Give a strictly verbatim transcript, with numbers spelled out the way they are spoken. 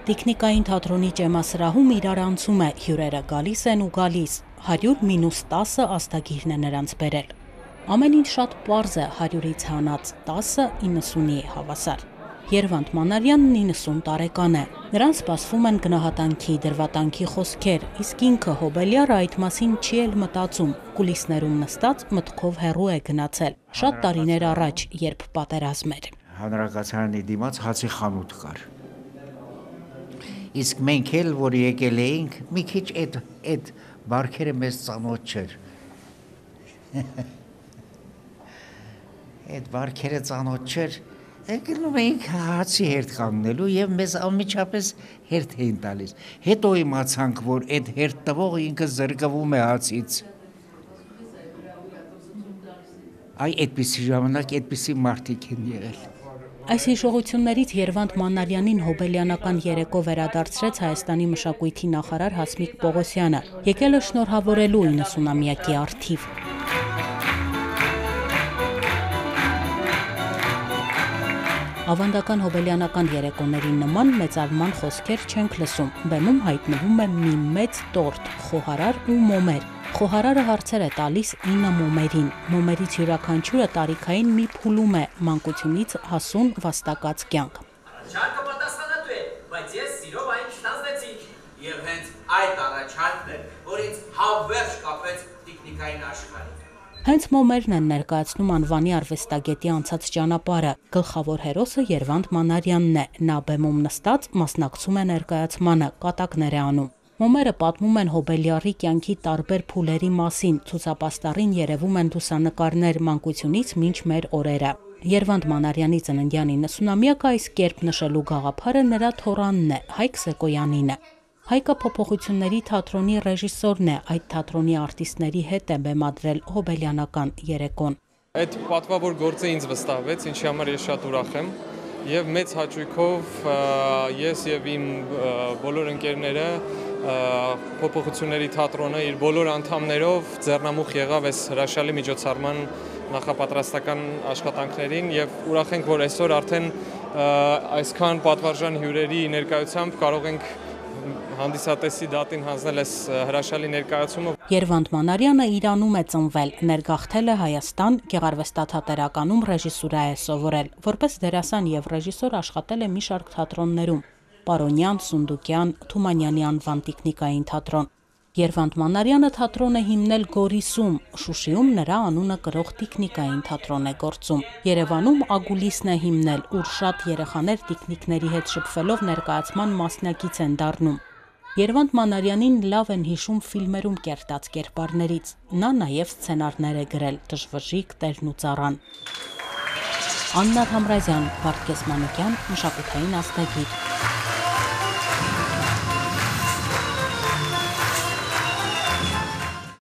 Տիկնիկային թատրոնի ճեմասրահում իրար անցում է, հյուրերը գալիս են ու գալիս, հարյուր մինուս տասը աստագիրն է նրանց բերել։ Ամեն ինչ շատ պարզ է, հարյուրից հանած, տասը իննսունի է հավասար։ Երվանդ Մանարյանն իննսուն տարեկան է, նրան սպասվում են գնահատանքի, դրվատանքի խոսքեր, իսկ ինքը Հոբելյարը այդ մասին չի էլ մտածում, կուլիսներում նստած մտքով հեռու է գնացել, շատ տարիներ առաջ, երբ պատերազմ էր։ Հանրակացարանի դիմաց հացի խանութ կար։ Իսկ մենք էլ, որ եկել էինք, մի քիչ այդ այդ բարքերը մեզ ծանոթ չէր։ Այդ բարքերը ծանոթ չէր, եկնում էինք հացի հերթ կանգնելու եւ մեզ անմիջապես հերթ էին տալիս։ Հետո իմացանք, որ այդ հերթ տվողը ինքը զրկվում է հացից։ Այ այդպիսի ժամանակ այդպիսի մարդիկ են եղել։ Այս հիշողություններից Երվանդ Մանարյանին հոբելյանական երեկո վերադարձրեց Հայաստանի մշակույթի նախարար Հասմիկ Պողոսյանը, եկել է շնորհավորելու իննսունամյակի առթիվ։ Ավանդական հոբելյանական երեկոների նման մեծարման խոսքեր չենք լսում, բեմում հայտնվում է մի մեծ տորտ, խոհարար ու մոմեր։ Խոհարարը հարցեր է տալիս ինը մոմերին, մոմերից յուրաքանչյուրը տարիքային մի փուլում է, մանկությունից հասուն վաստակած կյանք։ Առաջարկը պատասխանատու է, բայց ես սիրով այն չտանձնեցի, եւ հենց այդ առաջարկն է, որ ինձ հավերժ կապեց տիկնիկային աշխարհին։ Հենց մոմերն են ներկայացնում անվանի արվեստագետի անցած ճանապարհը, գլխավոր հերոսը Երվանդ Մանարյանն է, նա բեմում նստած մասնակցում է ներկայացմանը, կատակներ է անում։ Մոմերը պատմում են Հոբելյարի կյանքի տարբեր փուլերի մասին, ցուցապաստառին երևում են լուսանկարներ մանկությունից մինչ մեր օրերը։ Երվանդ Մանարյանի ծննդյան իննսունամյակը այս կերպ նշելու գաղափարը նրա թոռանն է, Հայկ Սեկոյանին է։ Հայկը փոփոխությունների թատրոնի ռեժիսորն է, այդ թատրոնի արտիստների հետ է բեմադրել հոբելյանական երեկոն։ Այդ պատվավոր գործը ինձ վստահվեց, ինչի համար ես շատ ուրախ եմ, եւ մեծ հաճույքով ես եւ իմ բոլոր ընկերները փոփոխությունների թատրոնը իր բոլոր անդամներով ձեռնամուխ եղավ այս հրաշալի միջոցառման նախապատրաստական աշխատանքներին եւ ուրախ ենք, որ այսօր արդեն այսքան պատվարժան հյուրերի ներկայությամբ կարող ենք հանդիսատեսի դատին հանձնել այս հրաշալի ներկայացումը։ Երվանդ Մանարյանը Իրանում է ծնվել, ներգաղթել է Հայաստան, գեղարվեստաթատերականում ռեժիսուրա է սովորել, որպես դերասան եւ ռեժիսոր աշխատել է մի շարք թատրոններում՝ Պարոնյան, Սունդուկյան, Թումանյանի անվան տիկնիկային թատրոն։ Երվանդ Մանարյանը թատրոն է հիմնել Գորիսում, Շուշիում նրա անունը կրող տիկնիկային թատրոն է գործում։ Երևանում Ագուլիսն է հիմնել, ուր շատ երեխաներ տիկնիկների հետ շփվելով ներկայացման մասնակից են դառնում։ Երվանդ Մանարյանին լավ են հիշում ֆիլմերում կերտած կերպարներից։ Նա նաև սցենարներ է գրել «Դժվժիկ տերն ու ծառան»։ Աննա Թամրազյան, Վարդգես Մանուկյան, Մշակութային ազդագիր։